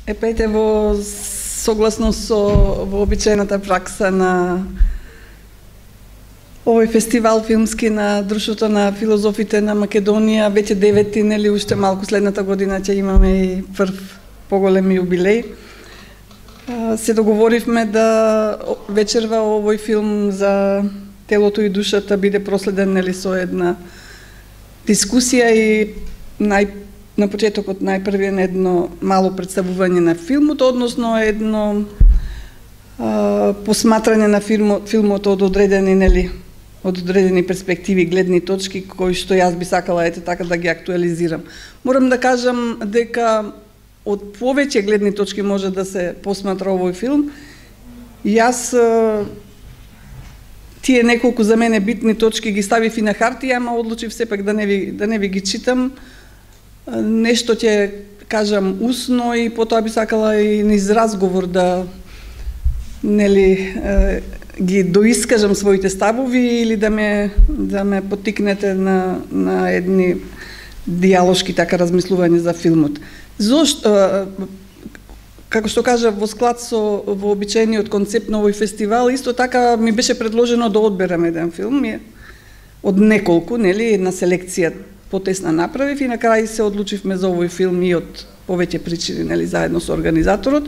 Епете во согласно со вообичаената пракса на овој фестивал филмски на Друштвото на филозофите на Македонија, веќе 9-ти, нели, уште малку следната година ќе имаме и прв поголем јубилеј. Се договоривме да вечерва овој филм за телото и душата биде проследен, нели, со една дискусија и на почетокот најпрви едно мало представување на филмот, односно едно посматрање на филмот од одредени, нели, од одредени перспективи, гледни точки, кои што јас би сакала ете така да ги актуализирам. Морам да кажам дека од повеќе гледни точки може да се посматра овој филм. Јас тие неколку за мене битни точки ги ставив и на хартија, ама одлучив сепак да не ви ги читам. Нешто ќе кажам усно и потоа би сакала и низ разговор да, нели, ги доискажам своите ставови или да ме поттикнете на едни диалошки така размислување за филмот. Зошто, како што кажа, во склад со вообичаениот концепт на овој фестивал, исто така ми беше предложено да одберам еден филм од неколку, нели, една селекција потесна направив и на крај се одлучивме за овој филм и од повеќе причини, нели, заедно со организаторот.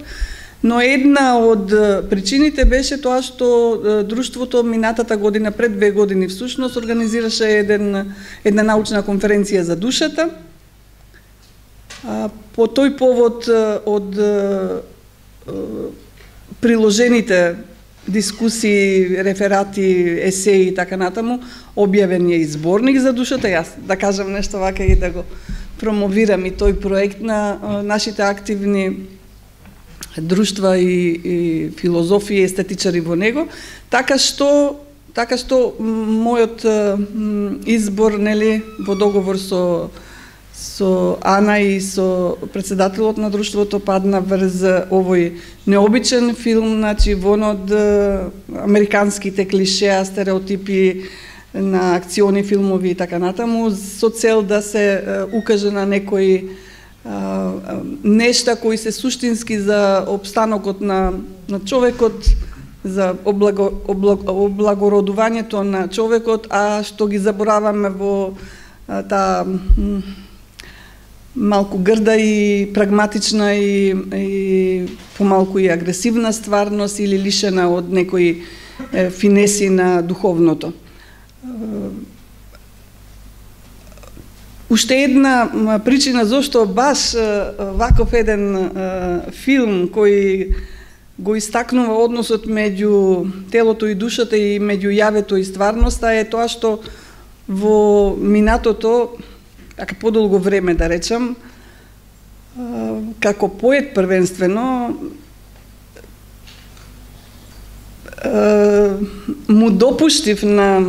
Но една од причините беше тоа што друштвото минатата година, пред 2 години всушност, организираше една научна конференција за душата. По тој повод од приложените дискусии, реферати, есеи и така натаму, објавен е и зборник за душата. Јас да кажам нешто вака и да го промовирам и тој проект на нашите активни друштва и филозофи и естетичари во него, така што мојот избор, нели, во договор со Ана и со председателот на друштвото падна врз овој необичен филм, значи вон од американските клишеа, стереотипи на акциони филмови и така натаму, со цел да се укаже на некои нешта кои се суштински за обстанокот на човекот, за облагородувањето на човекот, а што ги забораваме во таа малку грда и прагматична и помалку и агресивна стварност или лишена од некои финеси на духовното. Уште една причина зошто баш ваков еден филм кој го истакнува односот меѓу телото и душата и меѓу јавето и стварноста е тоа што во минатото, така подолго време да речам, како поет првенствено, му допуштив на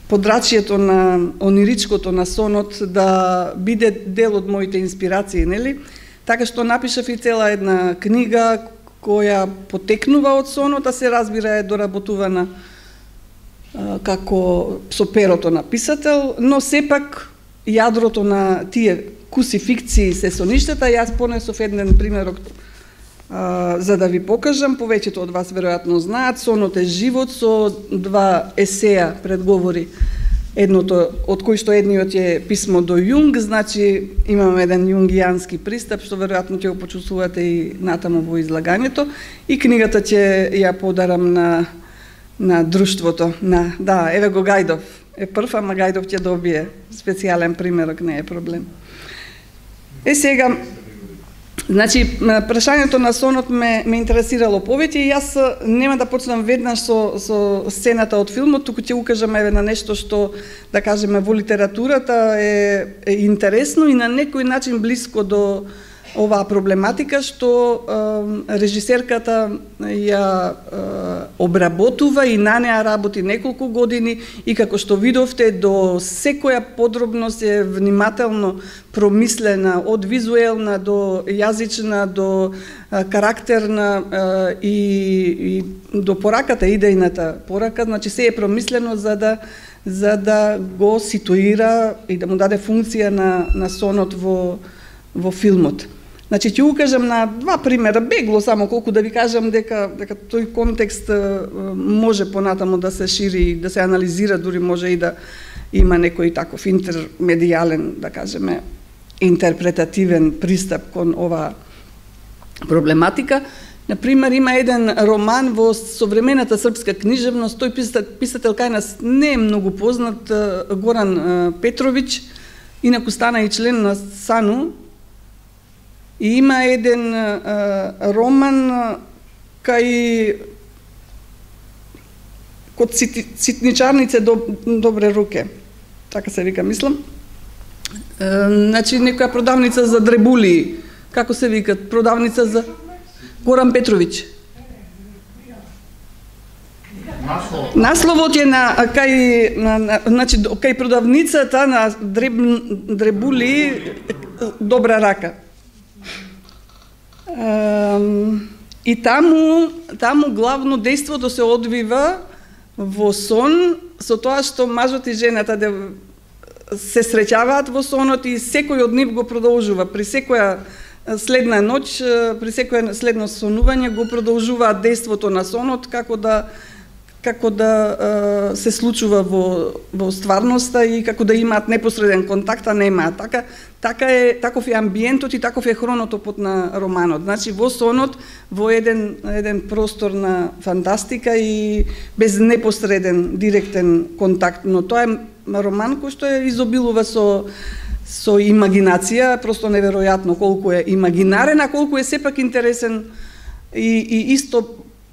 подрачјето на ониричкото на сонот да биде дел од моите инспирации, нели? Така што напишав и цела една книга која потекнува од сонот, а се разбира е доработувана како со перото на писател, но сепак јадрото на тие куси фикции се соништата. Јас понесов еден примерок за да ви покажам, повеќето од вас веројатно знаат. Сонот е живот со 2 есеја предговори, едното од кои што едниот е писмо до Јунг, значи имаме еден јунгијански пристап што веројатно ќе го почувствувате и натаму во излагањето, и книгата ќе ја подарам на друштвото. Да, еве го Гајдов е прв, ама Гајдов ќе добие специјален примерок, не е проблем. Сега, значи, прашањето на сонот ме интересирало повеќе и јас нема да почнам веднаш со сцената од филмот, туку ќе укажам еве на нешто што, да кажеме, во литературата е интересно и на некој начин блиско до оваа проблематика, што режисерката ја обработува и на неа работи неколку години, и како што видовте, до секоја подробност е внимателно промислена, од визуелна до јазична, до карактерна и до пораката, идејната порака, значи се е промислено за да го ситуира и да му даде функција на сонот во филмот. Значи, ќе укажам на два примера, бегло само колку да ви кажам дека тој контекст може понатаму да се шири, да се анализира, дури може и да има некој таков интермедијален, да кажеме, интерпретативен пристап кон ова проблематика. Например, има еден роман во современата српска книжевност, тој писател кај нас не е многу познат, Горан Петрович, инаку стана и член на САНУ, и има еден роман кај код ситничарнице добре руке, така се вика, мислам. Значи, некоја продавница за дребули, како се викат, продавница за... Горан Петрович. Насловот е кај продавницата на дребули добра рака. И таму главно дејството се одвива во сон, со тоа што мажот и жената се среќаваат во сонот и секој од нив го продолжува. При секоја следна ноќ, при секој следно сонување го продолжуваат дејството на сонот како да се случува во стварноста и како да имаат непосреден контакт, а немаат. Таков е амбиентот и таков е хронотопот на романот. Значи во сонот, во еден простор на фантастика и без непосреден директен контакт, но тоа е роман кој што изобилува со имагинација, просто неверојатно колку е имагинарен, а колку е сепак интересен и исто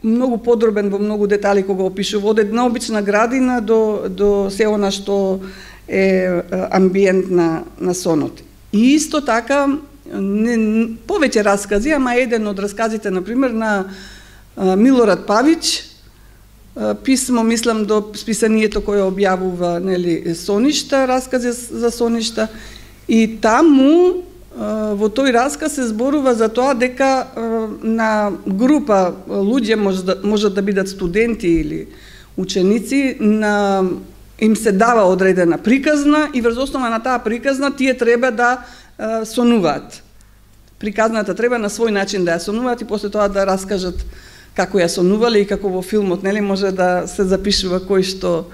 многу подробен во многу детали кога опишува од една обична градина до се она што е амбиент на сонот. И исто така повеќе раскази, ама еден од расказите, например, на Милорад Павич, писмо, мислам, до списанието кое објавува, нели, соништа, раскази за соништа. И таму, во тој расказ се зборува за тоа дека на група луѓе, можат да бидат студенти или ученици, им се дава одредена приказна и врз основа на таа приказна тие треба да сонуваат. Приказната треба на свој начин да ја сонуваат и после тоа да раскажат како ја сонувале и како во филмот, нели, може да се запишува кој што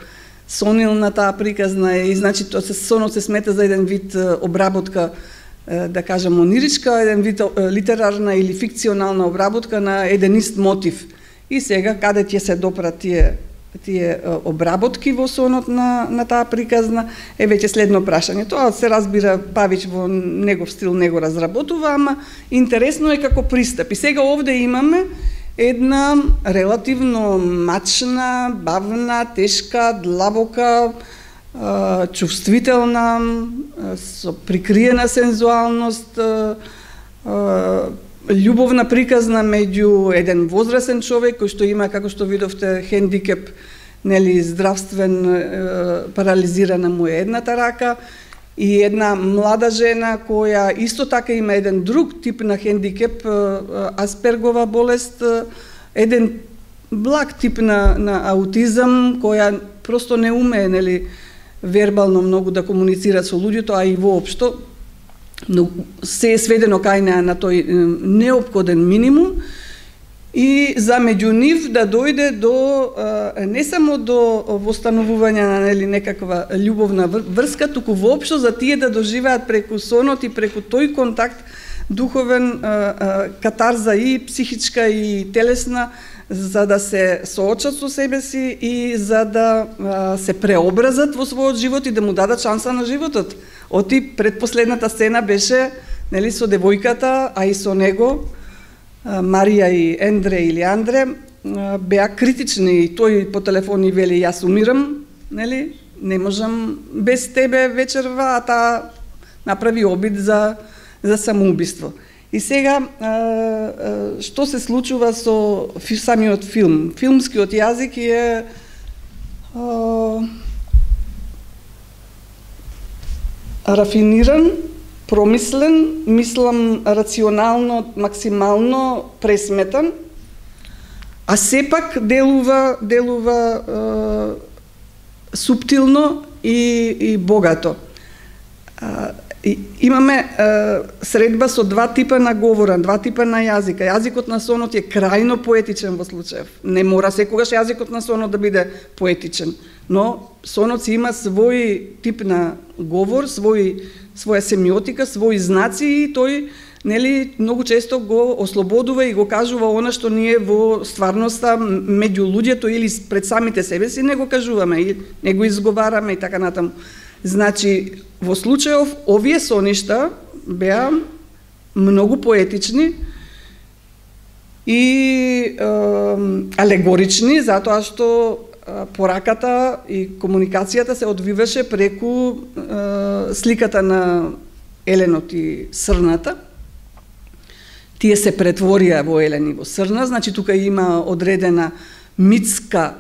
сонил на таа приказна и значи тоа сонот се смета за еден вид обработка, да кажем ониричка, еден вид литерарна или фикционална обработка на еден ист мотив. И сега каде ќе се допрат тие обработки во сонот на таа приказна е веќе следно прашање. Тоа се разбира, Павич во негов стил него разработува, ама интересно е како пристап. И сега овде имаме една релативно мачна, бавна, тешка, длабока, чувствителна, со прикриена сензуалност, љубовна приказна меѓу еден возрасен човек кој што има, како што видовте, хендикеп, нели, здравствен, парализирана му е едната рака, и една млада жена која исто така има еден друг тип на хендикеп, Аспергова болест, еден благ тип на аутизам, која просто не умее, нели, вербално многу да комуницира со луѓето, а и воопшто, но се е сведено кај на тој неопходен минимум, и за меѓу нив да дојде до не само до востановување на, нели, некаква љубовна врска, туку воопшто за тие да доживеат преку сонот и преку тој контакт духовен, катарза и психичка и телесна, за да се соочат со себе си и за да се преобразат во својот живот и да му дадат шанса на животот. Оти предпоследната сцена беше, нели, со девојката, а и со него, Марија и Ендре или Андре, беа критични и тој по телефон и вели: јас умирам, нели, не можам без тебе вечерва, а таа направи обид за самоубиство. И сега, што се случува со самиот филм? Филмскиот јазик е рафиниран, промислен, мислам рационално, максимално пресметан, а сепак делува субтилно и богато. имаме средба со два типа на говора, два типа на јазика. Јазикот на сонот е крајно поетичен во случаев. Не мора секогаш јазикот на сонот да биде поетичен, но сонот си има свој тип на говор, своја семиотика, своји знаци и тој нели многу често го ослободува и го кажува она што ние во стварноста меѓу луѓето или пред самите себе си не го кажуваме и не го изговараме и така натаму. Значи, во случајов овие соништа беа многу поетични и алегорични, затоа што пораката и комуникацијата се одвиваше преку сликата на еленот и срната. Тие се претворија во елен и во срна, значи тука има одредена митска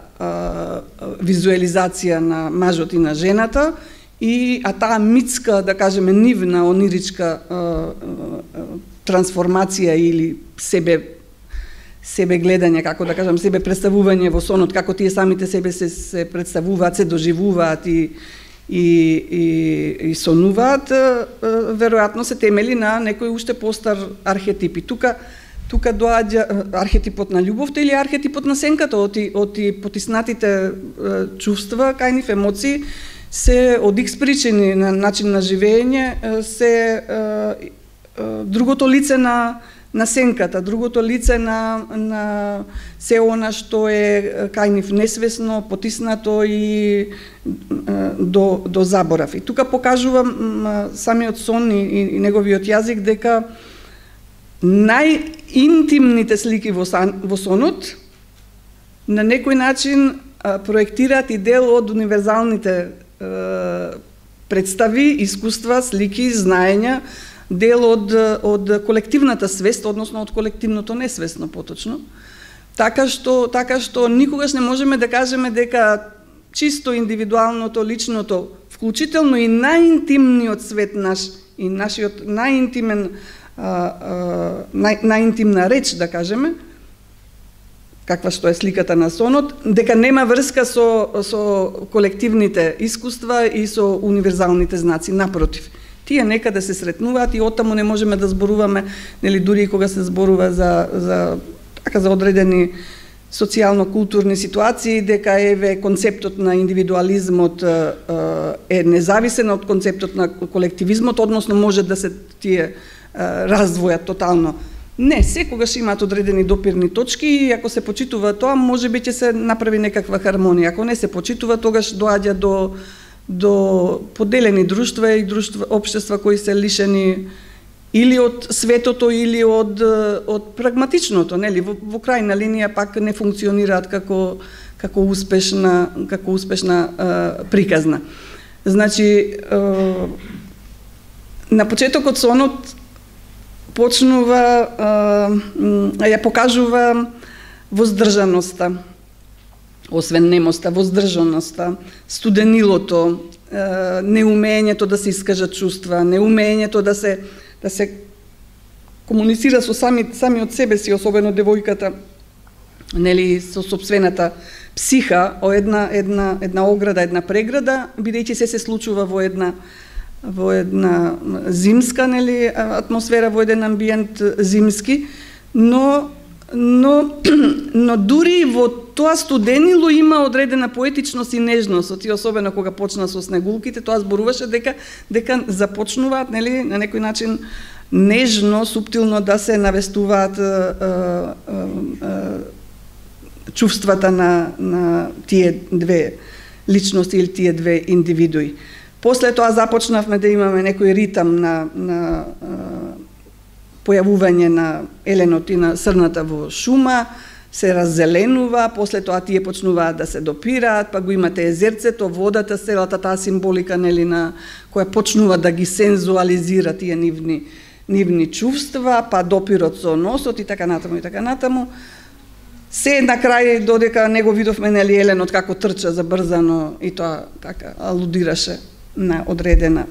визуализација на мажот и на жената, а таа митска, да кажеме, нивна, ониричка трансформација или себе гледање, како да кажам, себе представување во сонот, како тие самите себе се представуваат, се доживуваат и сонуваат, веројатно се темели на некој уште постар архетип. И тука доаѓа архетипот на љубовта или архетипот на сенката, од потиснатите чувства, кај нив емоции, се од икс причини на начин на живење, се другото лице на сенката, другото лице на се она што е кај нив несвесно, потиснато и до заборав. И тука покажувам самиот сон и неговиот јазик дека најинтимните слики во сонот на некој начин проектираат и дел од универзалните представи, искуства, слики, знаења, дел од колективната свест, односно од колективното несвесно поточно. Така што никогаш не можеме да кажеме дека чисто индивидуалното, личното, вклучително и најинтимниот свет наш и нашиот најинтимна реч, да кажеме, каква што е сликата на сонот, дека нема врска со колективните искуства и со универзалните знаци. Напротив, тие некаде се сретнуваат и оттаму не можеме да зборуваме, нели дури и кога се зборува за одредени социјално-културни ситуации, дека еве концептот на индивидуализмот е независен од концептот на колективизмот, односно може да се тие раздвојат тотално. Не, секогаш имаат одредени допирни точки и ако се почитува тоа, можеби ќе се направи некаква хармонија. Ако не се почитува, тогаш доаѓа до поделени друштва и општества кои се лишени или од светото или од прагматичното, нели, во крајна линија пак не функционираат како успешна приказна. Значи, на почетокот сонот почнува, ја покажува воздржаноста, освенемоста, воздржаноста, студенилото, неумењето да се искажат чувства, неумењето да се комуницира со самиот себе си, особено девојката, нели, со сопствената психа, една ограда, една преграда, бидејќи се случува во една зимска, нели, атмосфера, во еден амбиент зимски, но дури во тоа студенило има одредена поетичност и нежност, и особено кога почна со снегулките, тоа зборуваше дека започнуваат, нели, на некој начин нежно, суптилно да се навестуваат чувствата на тие две личности или тие две индивидуи. После тоа започнавме да имаме некој ритам на појавување на еленот и на срната во шума, се раззеленува, после тоа тие почнуваат да се допираат, па го имате езерцето, водата, целата таа символика, нели, на која почнува да ги сензуализира тие нивни чувства, па допирот со носот и така натаму и така натаму. Се на крај додека не го видовме, нели, еленот како трча забрзано и тоа така алудираше на одредена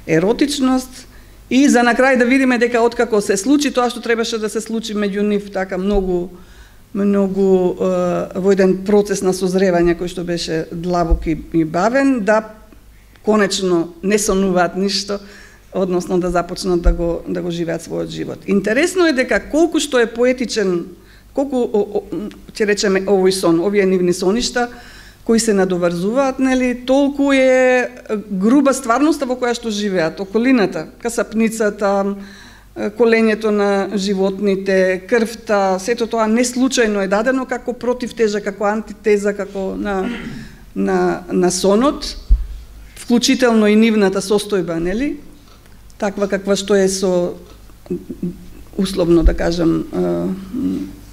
еротичност. И за на крај да видиме дека откако се случи тоа што требаше да се случи меѓу нив, така многу во еден процес на созревање кој што беше длабок и бавен, да конечно не сонуваат ништо, односно да започнат да го живеат својот живот. Интересно е дека колку што е поетичен, колку ќе речеме овој сон, овие нивни соништа кои се надоврзуваат, нели, толку е груба стварноста во која што живеат, околината, касапницата, колењето на животните, крвта, сето тоа не случајно е дадено како противтежа, како антитеза, како на сонот, вклучително и нивната состојба, нели? Таква каква што е со, условно да кажам,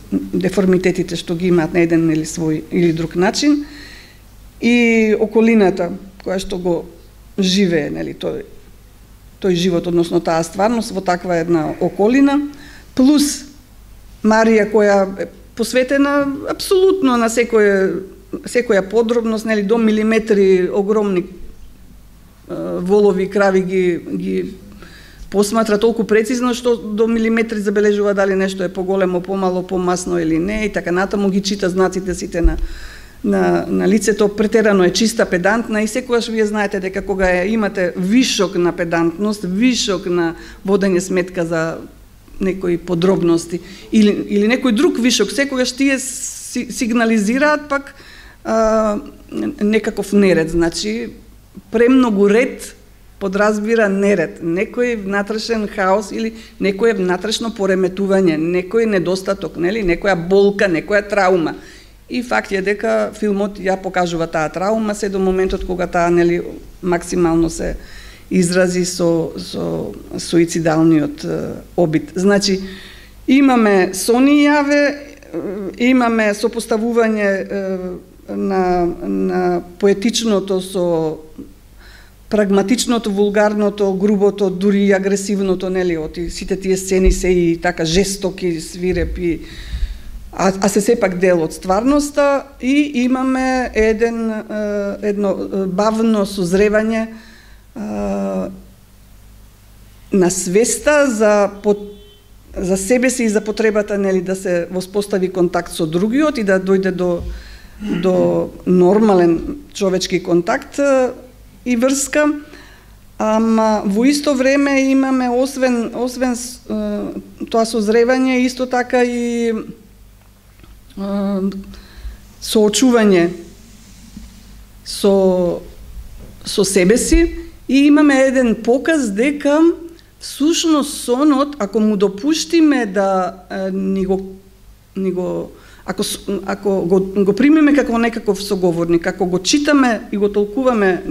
деформитетите што ги имаат на еден или свој или друг начин, и околината која што го живее, нели, тој живот, односно таа стварност во таква една околина, плюс Марија која е посветена апсолутно на секоја подробност, нели, до милиметри огромни волови, крави ги посматра толку прецизно што до милиметри забележува дали нешто е поголемо, помало, помасно или не, и така натаму ги чита знаците сите на лицето, претерано е чиста, педантна, и секогаш вие знаете дека кога имате вишок на педантност, вишок на водење сметка за некои подробности или некој друг вишок, секогаш тие сигнализираат пак некаков неред, значи премногу ред подразбира неред, некој внатрешен хаос или некое внатрешно пореметување, некој недостаток, нели, некоја болка, некоја траума. И факт е дека филмот ја покажува таа траума се до моментот кога таа, нели, максимално се изрази со суицидалниот обид. Значи, имаме сони јаве, имаме сопоставување на поетичното со прагматичното, вулгарното, грубото, дури и агресивното, нели, од сите тие сцени се и така жестоки, свирепи, а се сепак дел од стварноста, и имаме едно бавно созревање на свеста за себе си и за потребата, нели, да се воспостави контакт со другиот и да дојде до нормален човечки контакт и врска, ама во исто време имаме освен тоа созревање, исто така и соочување со себе си, и имаме еден показ дека всушност сонот, ако му допуштиме да ако го примеме како некаков соговорник, ако го читаме и го толкуваме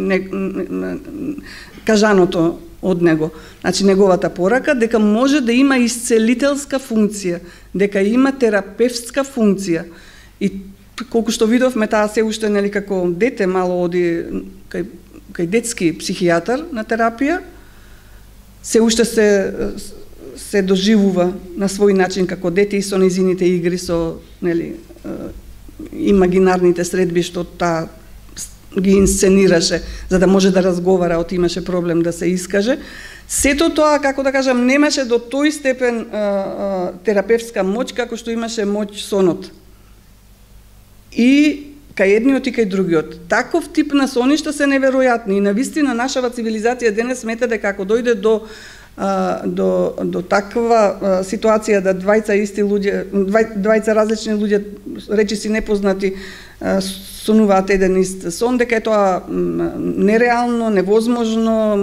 кажаното од него, значи неговата порака, дека може да има исцелителска функција, дека има терапевтска функција. И колку што видовме, таа се уште, нели, како дете мало оди кај детски психијатар на терапија, се уште се доживува на свој начин како дете и со незините игри, со, нели, имагинарните средби што таа ги инсценираше за да може да разговара, од имаше проблем да се искаже. Сето тоа, како да кажам, немаше до тој степен терапевтска моќ како што имаше моќ сонот. И кај едниот и кај другиот. Таков тип на соништа се неверојатни, и навистина нашава цивилизација денес смета дека ако дојде до таква ситуација да двајца различни луѓе, речиси непознати, сонуваат еден ист сон, дека е тоа нереално, невозможно,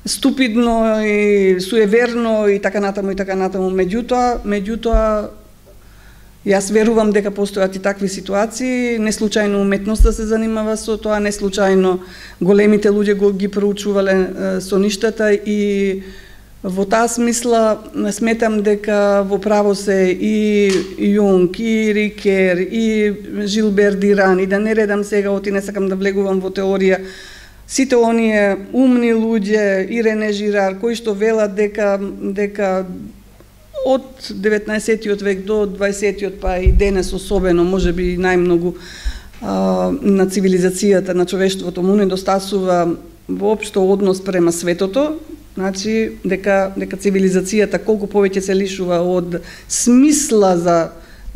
ступидно и суеверно и така натаму и така натаму. Меѓутоа јас верувам дека постојат и такви ситуации, не случајно уметноста се занимава со тоа, не случајно големите луѓе ги проучувале соништата, и во таа смисла сметам дека во право се и Јунг, и Рикер, и Жилбер Диран, и да не редам сега, оти не сакам да влегувам во теорија, сите оние умни луѓе, и Рене Жирар, кои што велат дека од 19-тиот век до 20-тиот, па и денес особено, можеби најмногу на цивилизацијата, на човештвото му недостасува воопшто однос према светото, значи дека цивилизацијата колку повеќе се лишува од смисла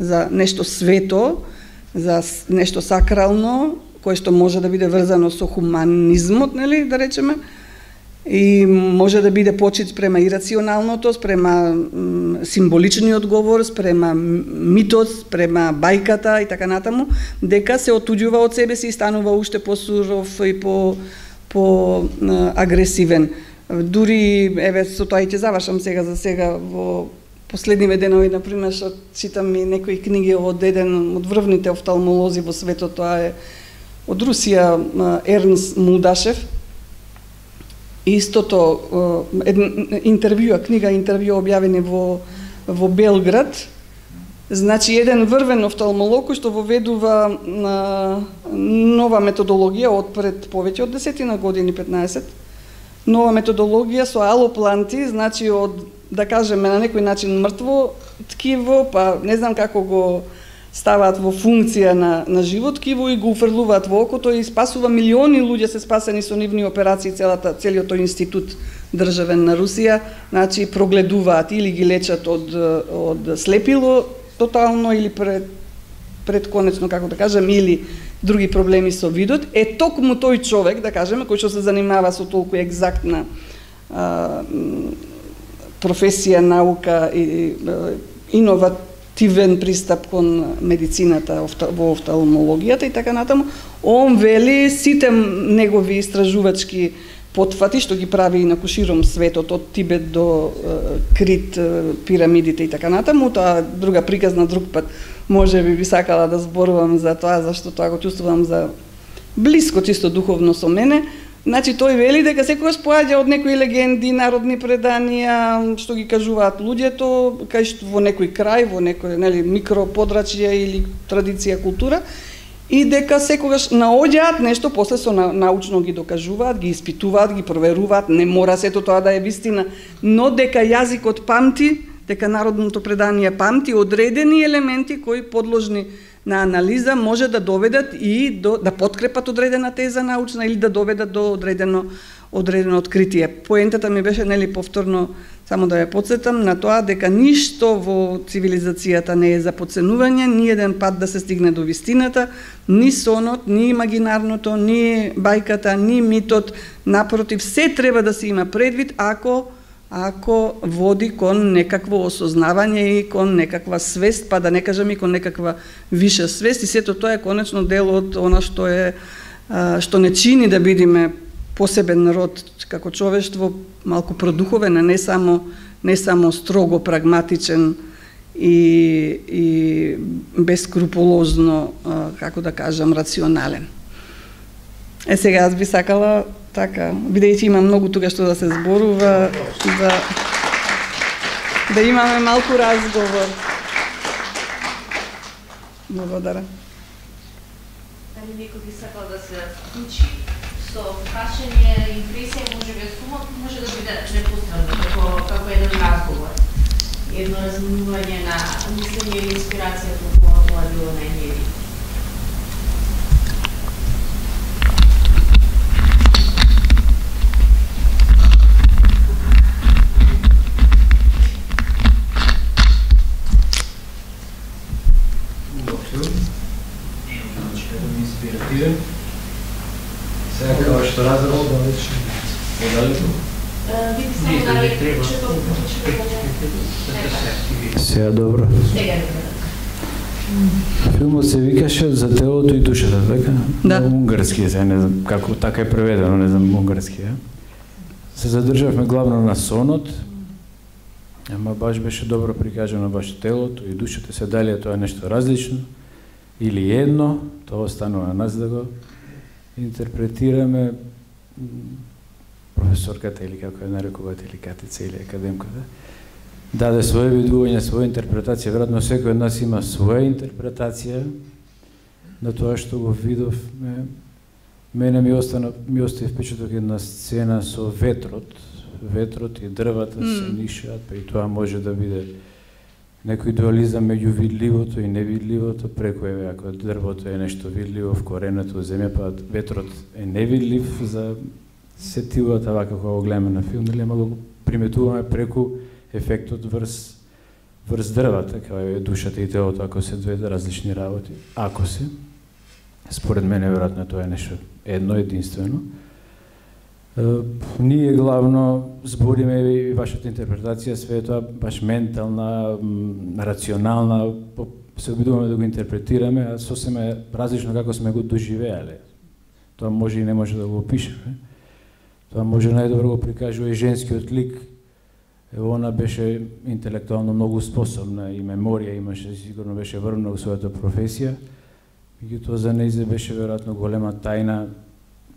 за нешто свето, за нешто сакрално, кое што може да биде врзано со хуманизмот, нели, да речеме, И може да биде почит спрема ирационалното, спрема символичниот говор, спрема митот, спрема бајката и така натаму, дека се отуѓува од себе си и станува уште посуров и по агресивен. Дури, еве, со тоа и ќе завршам сега за сега, во последниве денови, например, што читам и некои книги од еден од врвните офталмолози во светот, тоа е од Русија, Ернст Мулдашев. Истото книга интервју објавени во Белград. Значи еден врвен офталмолог кој што воведува нова методологија од пред повеќе од 10 години, 15. Нова методологија со алопланти, значи од, да кажеме, на некој начин мртво ткиво, па не знам како го ставаат во функција на живот ткиво и го уфрлуваат во окото и спасува милиони луѓе се спасени со нивни операции, целиот тој институт државен на Русија, значи прогледуваат или ги лечат од слепило тотално или предконечно, како да кажем, или други проблеми со видот. Токму тој човек, да кажеме, кој што се занимава со толку екзактна професија, наука и иновативен пристап кон медицината во офталмологијата и така натаму, он вели сите негови истражувачки потфати што ги прави на куширом светот од Тибет до Крит, пирамидите и така натаму, тоа друга приказна друг пат, може би сакала да зборувам за тоа, зашто тоа го чувствувам за блиско чисто духовно со мене. Значи тој вели дека секогаш поаѓа од некои легенди, народни преданија што ги кажуваат луѓето, кај што во некој крај, во некој, нели, микроподрачје или традиција, култура, и дека секогаш наоѓаат нешто, после со научно ги докажуваат, ги испитуваат, ги проверуваат, не мора сето тоа да е вистина, но дека јазикот памти, дека народното предание памти одредени елементи кои подложни на анализа може да доведат и да подкрепат одредена теза научна или да доведат до одредено откритие. Поентата ми беше, нели, повторно, само да ја потсетам на тоа дека ништо во цивилизацијата не е за потценување, ни еден пат да се стигне до вистината, ни сонот, ни имагинарното, ни бајката, ни митот, напротив, се треба да се има предвид ако води кон некакво осознавање и кон некаква свест, па да не кажам и кон некаква виша свест, и сето тоа е конечно дел од она што не чини да бидеме посебен народ како човештво, малку продуховен, а не само строго прагматичен и бескрупулозно, како да кажам, рационален. Сега аз би сакала така, бидејќи има многу тука што да се зборува, да имаме малку разговор. Благодарам. Дали некој би сакал да се вклучи со прашање, импресија, можеби сумот, може да биде непосредно, како еден разговор. Едно разминување на мислење или инспирација кога тоа било најмери. Сега како што разбрав, сега добро. Филмот се викаше За телото и душата, така? Да. На унгарски, сега не знам како така е преведено, не знам унгарски, Се задржавме главно на сонот, ама баш беше добро прикажано баш телото и душата, се дали е тоа нешто различно или едно, тоа останува на нас да го интерпретираме. Професорката или како ја нарекувате, или катица, или академката, даде своје видување, своја интерпретација. Веројатно секој од нас има своја интерпретација на тоа што го видов. Мене ми остави впечаток една сцена со ветрот. Ветрот и дрвата се нишаат, па и тоа може да биде некој дуализам меѓу видливото и невидливото, преку ако дрвото е нешто видливо, вкоренето во земја, па ветрот е невидлив за сетивата, вака кога го гледаме на филм, ама го приметуваме преку ефектот врз дрвата, као е душата и телото, ако се две различни работи. Ако се, според мене, веројатно тоа е нешто едно, единствено. Ние главно збориме и вашата интерпретација, све тоа баш ментална, рационална, се обидуваме да го интерпретираме, а сосема различно како сме го доживеале. Тоа може и не може да го опишеме. Тоа може најдобро го прикажува и женскиот лик. Она беше интелектуално многу способна и меморија имаше, сигурно беше врвна во својата професија. Меѓутоа за нејзе беше веројатно голема тајна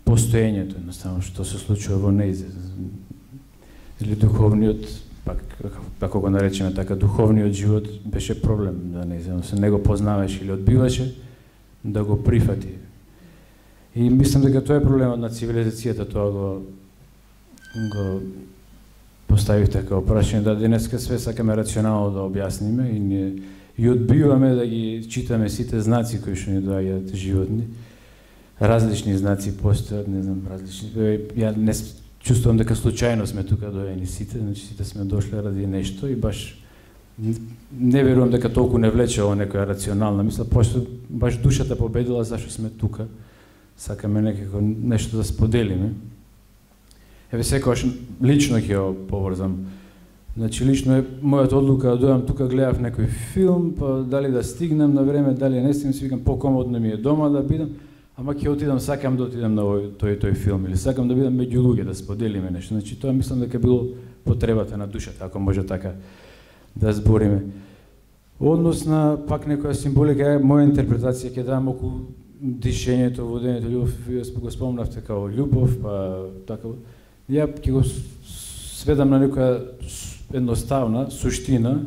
постоењето, едноставно што се случува во нејзе. Или духовниот, пак како го наречеме така, духовниот живот беше проблем за нејзе, се не го познаваше или одбиваше да го прифати. И мислам дека тоа е проблемот на цивилизацијата, тоа го поставивте како прашање, да денеска све сакаме рационално да објасниме и ние и одбиваме да ги читаме сите знаци кои што ни доаѓаат животни. Различни знаци постојат, не знам, различни. Ја не чувствувам дека случајно сме тука доаѓани сите, значи сите сме дошле ради нешто и баш не верувам дека толку не влече ово некоја рационална мисла, пошто баш душата победила зашто сме тука. Сакаме некако нешто да споделиме. Еве секогаш лично ќе го поврзам. Значи лично е мојата одлука да дојдам тука, гледав некој филм, па дали да стигнем на време, дали не стигнем, си викам покомодно ми е дома да бидам, ама ќе отидам, сакам да отидам на тој филм или сакам да бидам меѓу луѓе да споделиме нешто. Значи тоа мислам дека било потребата на душата, ако може така да збориме. Однос на пак некоја символика, моја интерпретација ќе дам околу дишењето, водењето, љубов, вие го спомнавте као љубов, па така. Ја ќе го сведам на некоја едноставна суштина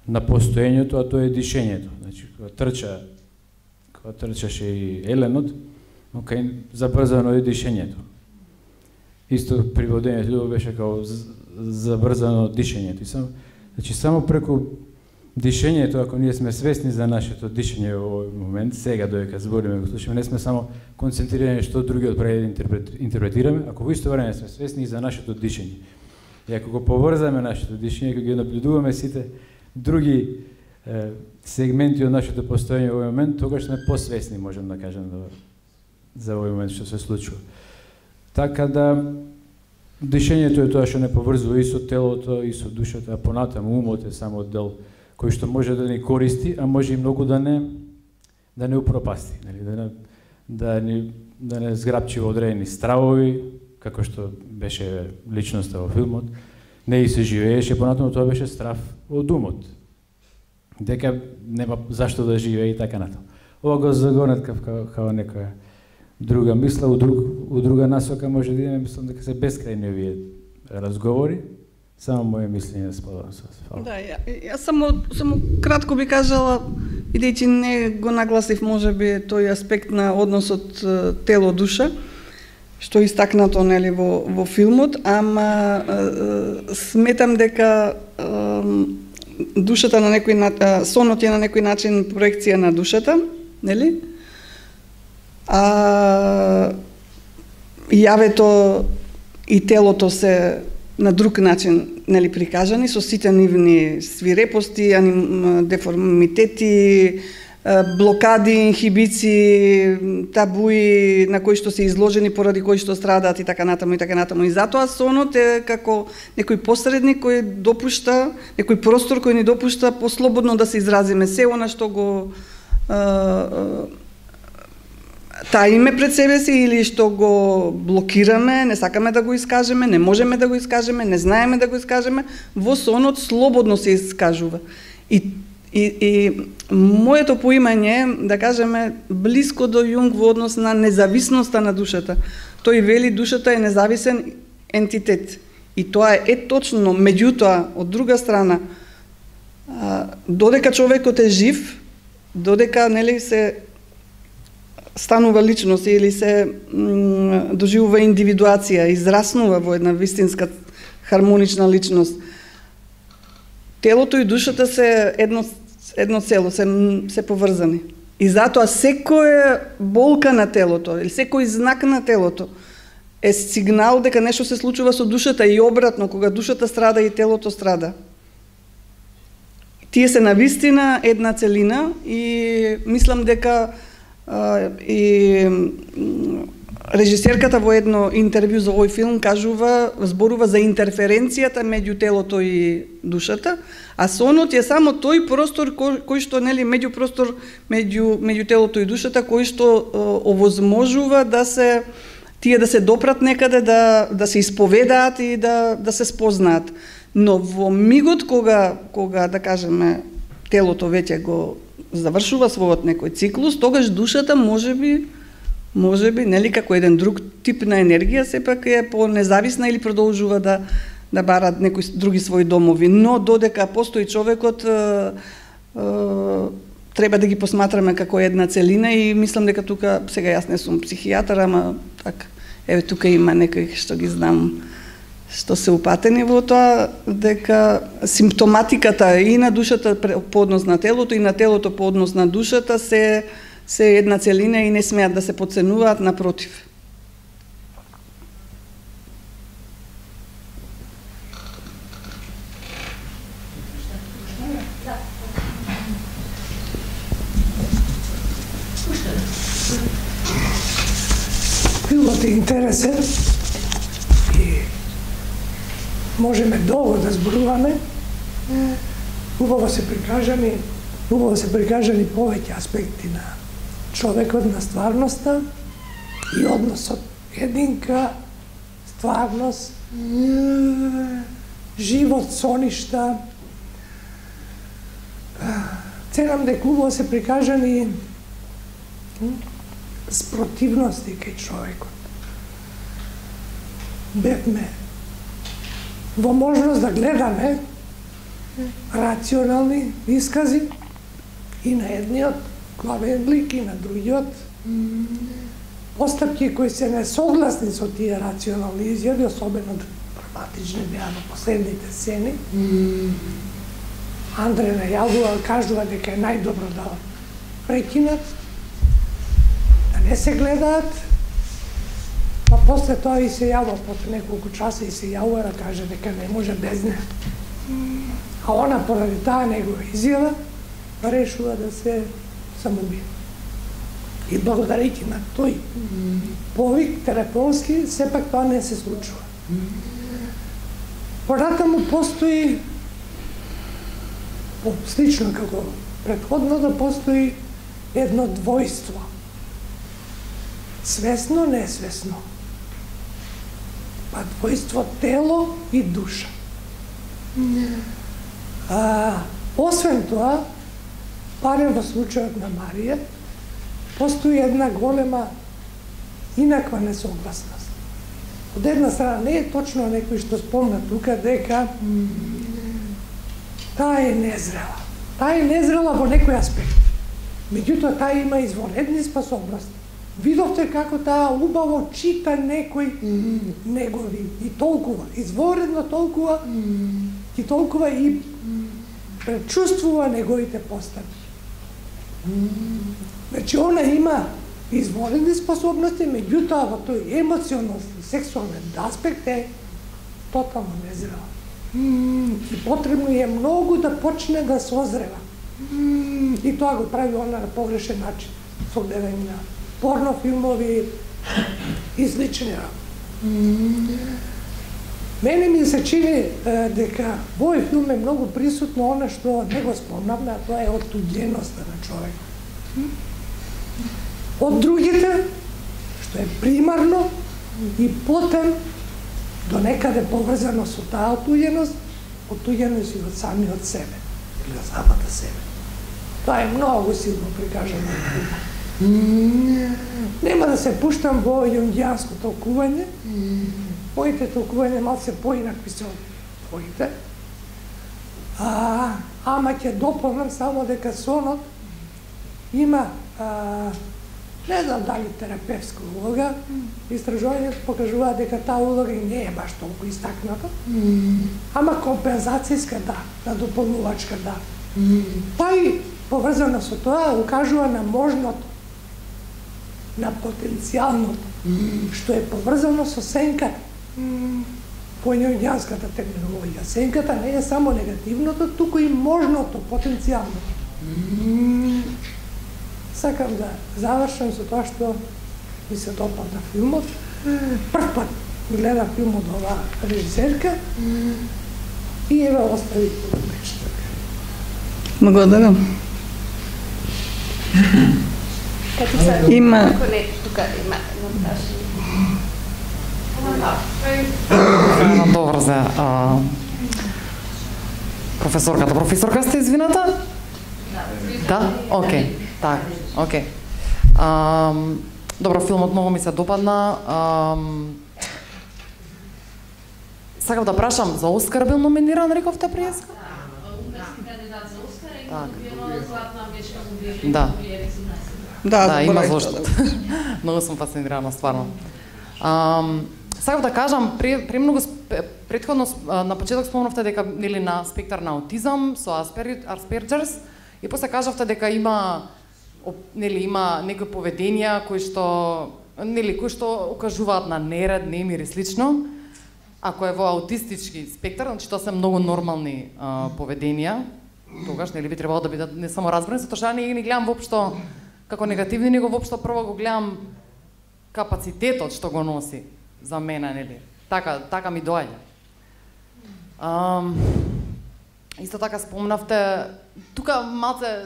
на постоењето, а тоа е дишењето. Значи, кога трчаше и еленот, забрзано е дишењето. Исто при водењето љубов беше као забрзано дишењето. Значи, само преку дишењето, ако ние сме свесни за нашето дишење во овој момент, сега додека збориме, го слушаме, не сме само концентрирани што другиот прави да интерпретираме, ако во исто време сме свесни за нашето дишење. И ако го поврзаме нашето дишење, ако ги наблюдуваме сите други сегменти од нашето постоење во овој момент, тогаш сме посвесни, можем да кажем, за овој момент што се случува. Така да, дишењето е тоа што не поврзува и со телото, и со душата, а понатаму умот е само дел кој што може да ни користи, а може и многу да не упропасти, да не зграпчи во одредени стравови, како што беше личноста во филмот, не и се живееше, понатаму тоа беше страв од умот. Дека нема зашто да живее и така натаму. Ова го загонет као некоја друга мисла, у друга насока може да идеме, мислам дека се бескрајни овие разговори. Само моje мислење да споделам со вас. Да, јас само кратко би кажала, бидејќи не го нагласив можеби тој аспект на односот тело-душа, што е истакнато нели во филмот, ама сметам дека душата на некој сонот е на некој начин проекција на душата, нели? А јавето и телото се на друг начин нели прикажани со сите нивни свирепости, деформитети, блокади, инхибиции, табуи на кои што се изложени поради кои што страдаат и така натаму и така натаму. И затоа сонот е како некој посредник кој допушта, некој простор кој ни допушта послободно да се изразиме се она што го таиме пред себе си или што го блокираме, не сакаме да го искажеме, не можеме да го искажеме, не знаеме да го искажеме, во сонот слободно се искажува. И моето поимање, да кажеме, блиско до Јунг во однос на независноста на душата. Тој вели душата е независен ентитет. И тоа е точно, меѓутоа, од друга страна, додека човекот е жив, додека нели се станува личност или се доживува индивидуација, израснува во една вистинска хармонична личност. Телото и душата се едно цело, се поврзани. И затоа секоја болка на телото или секој знак на телото е сигнал дека нешто се случува со душата и обратно, кога душата страда и телото страда. Тие се навистина една целина и мислам дека и режисерката во едно интервју за овој филм зборува за интерференцијата меѓу телото и душата, а сонот е само тој простор кој што нели меѓупростор меѓу телото и душата кој што овозможува да се тие да се допрат некаде, да се исповедаат и да се спознаат. Но во мигот кога да кажеме телото веќе го завршува својот некој циклус, тогаш душата можеби нели како еден друг тип на енергија сепак е по-независна или продолжува да бара некои други своји домови, но додека постои човекот треба да ги посматраме како една целина и мислам дека тука сега јас не сум психијатар, ама така еве тука има некои што ги знам што се упатени во тоа дека симптоматиката и на душата по однос на телото и на телото по однос на душата се една целина и не смеат да се потценуваат, напротив. Филмот е интересен и можеме долго да зборуваме. Убаво се прикажани повеќе аспекти на човекот, на стварноста и односот единка, стварност, живот, соништа. Ценам дека убаво се прикажани спротивности кај човекот. Бевме во можност да гледаме рационални искази и на едниот главен лик и на другиот постапки кои се несогласни со тие рационални изјави, особено драматични беа на последните сцени. Андре најавува, кажува дека е најдобро да прекинат, да не се гледаат, па после тоа и се јавува, после неколку часа и се јавува да каже дека не може без неа. А она поради таа негова изјава решува да се самоубие. И благодарејќи на тој повик телефонски, сепак тоа не се случува. Понатаму постои, слично како претходно, да постои едно двојство. Свесно, несвесно. Па двојство тело и душа. Освен тоа, барем во случајот на Марија, постои една голема инаква несогласност. Од една страна не е точно некој што спомна тука дека таа е незрела. Таа е незрела во некој аспект. Меѓутоа таа има извонредни способности. Видовте како таа убаво чита некои негови и толкува, изворедно толкува и толкува и пречувствува неговите постапки. Значи, она има изворедни способности, меѓутоа во тој емоционален, сексуален аспект е тотално незрела. И потребно е многу да почне да созрева. И тоа го прави она на погрешен начин, со гледање на порнофилмови и слични. Мене ми се чини дека во овој филм е многу присутно она што не го спомнавме, а тоа е оттуѓеноста на човек. Од другите, што е примарно, и потем до некаде поврзано со таа оттуѓеност и од самиот себе, или од самата себе. Тоа е многу силно прикажано. Нема да се пуштам во јунгијанско толкување. Моите толкување малце поинакви се од твоите. Ама ќе дополнам само дека сонот има, не знам дали терапевска улога, истражувањето покажува дека таа улога и не е баш толку истакната, ама компензацијска да, надополнувачка да. Па и поврзано со тоа укажува на можното, на потенцијалното, што е поврзано со сенката. По јунгијанската терминологија. Сенката не е само негативното, туку и можното, потенцијалното. Сакам да завршам со тоа што ми се допадна филмот. Прв пат гледам филмот ова режисерка и еве остави нешто. Благодарам. Има тука има Добро за професорката. Професорка сте извината? Да? Окей. Так, окей. Добро, филмот многу ми се допадна. Сакав да прашам, за Оскар бил номиниран, рековте приеска? унгарски кандидат за Оскар и Так. добиено златна амбичка за Да. 2018. Да, има заборавив зошто. тоа да Многу сум фасцинирана, стварно. Сакав да кажам, премногу претходно на почеток спомнавте дека нели на спектар на аутизам со Asperger's и после кажавте дека има има некои поведенија кои што укажуваат на неред, немир и слично. Ако е во аутистички спектар, значи тоа се многу нормални поведенија. Тогаш би требало да бидат не само разбрани, затоа што не ги гледам воопшто како негативни, него воопшто прво го гледам капацитетот што го носи за мене, нели. Така ми доаѓа. Исто така спомнавте, тука малце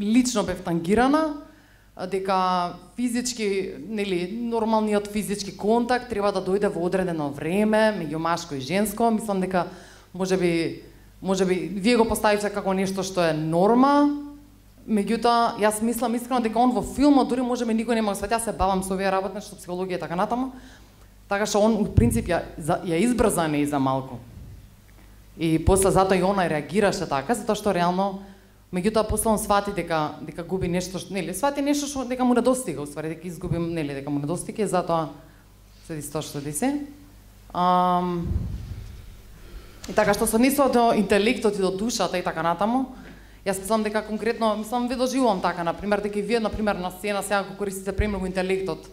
лично бев тангирана, дека физички, нормалниот физички контакт треба да дојде во одредено време меѓу машко и женско. Мислам дека можеби вие го поставивте како нешто што е норма. Меѓутоа, јас мислам искрено дека он во филмот дури можеби никој нема го свати, јас се бавам со овие работи, што психологија и така натаму. Така што он во принцип ја избрза не и за малку. И после затоа и она реагираше така, затоа што реално меѓутоа после он свати дека губи нешто, свати нешто што дека му недостига, уствари дека изгубим, дека му недостига и затоа се тоа што се. И така што се однесува до интелектот и до душата и така натаму, јас мислам дека конкретно, ви доживувам така, например, дека и вие, например, на сцена сега го користите премногу интелектот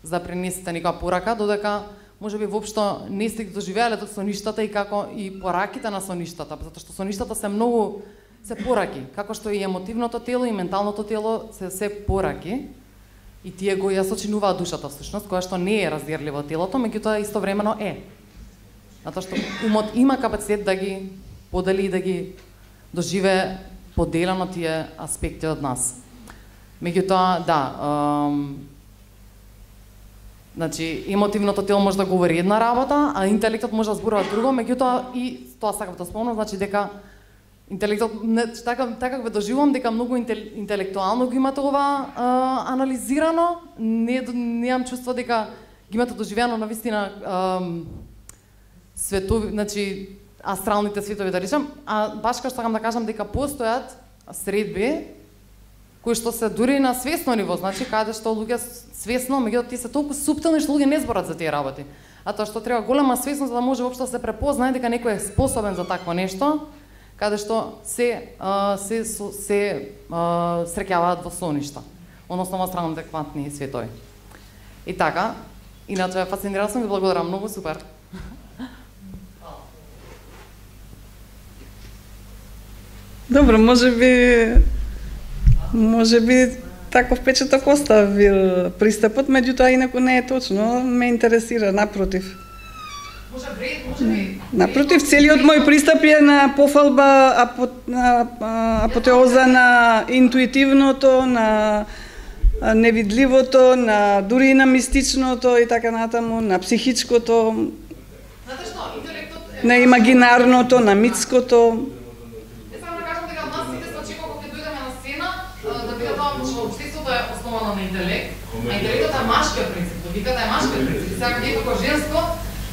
за да пренесете некоја порака, додека можеби воопшто не сте ги доживеале соништата и како и пораките на соништата, затоа што соништата се пораки, како што и емотивното тело и менталното тело се пораки и тие го ја сочинуваат душата всушност, која што не е раздирливо телото, меѓутоа истовремено е. Затоа што умот има капацитет да ги подели и да ги доживее поделено тие аспекти од нас. Меѓутоа, значи, емотивното тело може да говори една работа, а интелектот може да зборува друго, меѓутоа и тоа сакам да спомнам, значи дека интелектот, така го доживувам дека многу интелектуално го имате ова анализирано, неам чувство дека ги имате доживено на вистина светови, значи астралните светови да речам, а баш како сакам да кажам дека постојат средби кои што се дури на свесно ниво, значи каде што луѓе свесно, меѓутоа тие се толку суптилни што луѓе не зборат за тие работи. А тоа што треба голема свесност за да може воопшто да се препознае дека некој е способен за такво нешто, каде што се среќаваат во соништа, односно во астралните квантни светови. И така, иначе фасцинирана сум, ви благодарам многу, супер. Добро, можеби таков впечаток остави пристапот, меѓутоа инаку не е точно, ме интересира, напротив. Напротив, целиот мој пристап е на пофалба, апотеоза на интуитивното, на невидливото, на дури и на мистичното и така натаму, на психичкото, на имагинарното, на митското. На интелект, а интелектот е машкиот принцип, логиката е машкиот принцип, сега вие како женско,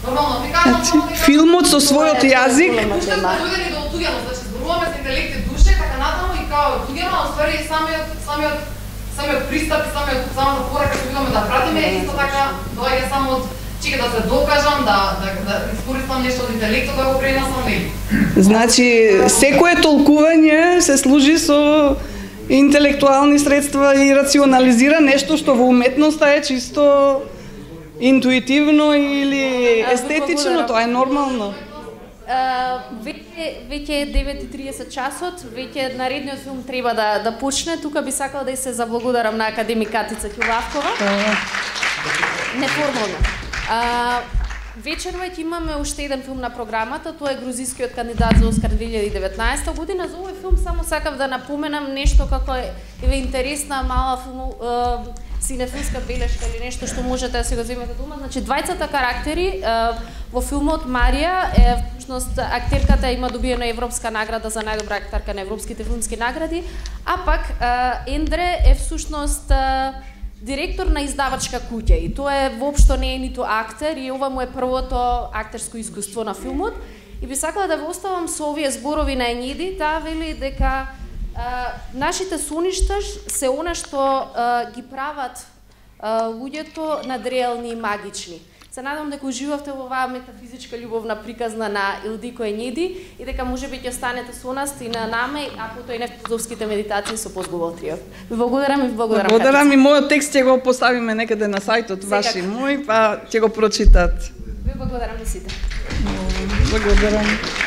нормално ви кажам, филмот со својот јазик, уште сме дојдени до отуѓеност, значи зборуваме за интелект и душа и така натаму и као отуѓено, а уствари самиот пристап и самата порака што видиме да пратиме, исто така доаѓа само од чека да се докажам, да искористам нешто од интелектот, да го пренесам нели. Значи, секое толкување се служи со интелектуални средства и рационализира нешто што во уметноста е чисто интуитивно или естетично, тоа е нормално. Веќе е 9:30 часот, веќе наредниот филм треба да почне. Тука би сакала да се заблагодарам на академик Катица Ќулавкова. неформално. Вечерва ќе имаме уште еден филм на програмата, тоа е грузискиот кандидат за Оскар 2019 година. За овој филм само сакав да напоменам нешто како е интересна мала синефилска белешка или нешто што можете да се го земете дома. Значи, двајцата карактери во филмот Марија е всушност актерката има добиена европска награда за најдобра актерка на европските филмски награди, а пак Ендре е всушност директор на издавачка куќа и тоа е воопшто не е ниту актер и ова му е првото актерско искуство на филмот. И би сакала да ве оставам со овие зборови на Енјиди, таа вели дека нашите соништа се она што ги прават луѓето надреални и магични. Се надам дека уживавте во оваа метафизичка љубовна приказна на Илдико Енјиди и дека можеби ќе останете со нас и на наме, а потоа и на филозофските медитации со Позговор трио. Ви благодарам и благодарам. Благодарам и мојот текст ќе го поставиме некаде на сајтот ваш и мој, па ќе го прочитат. Ви благодарам на сите. Благодарам.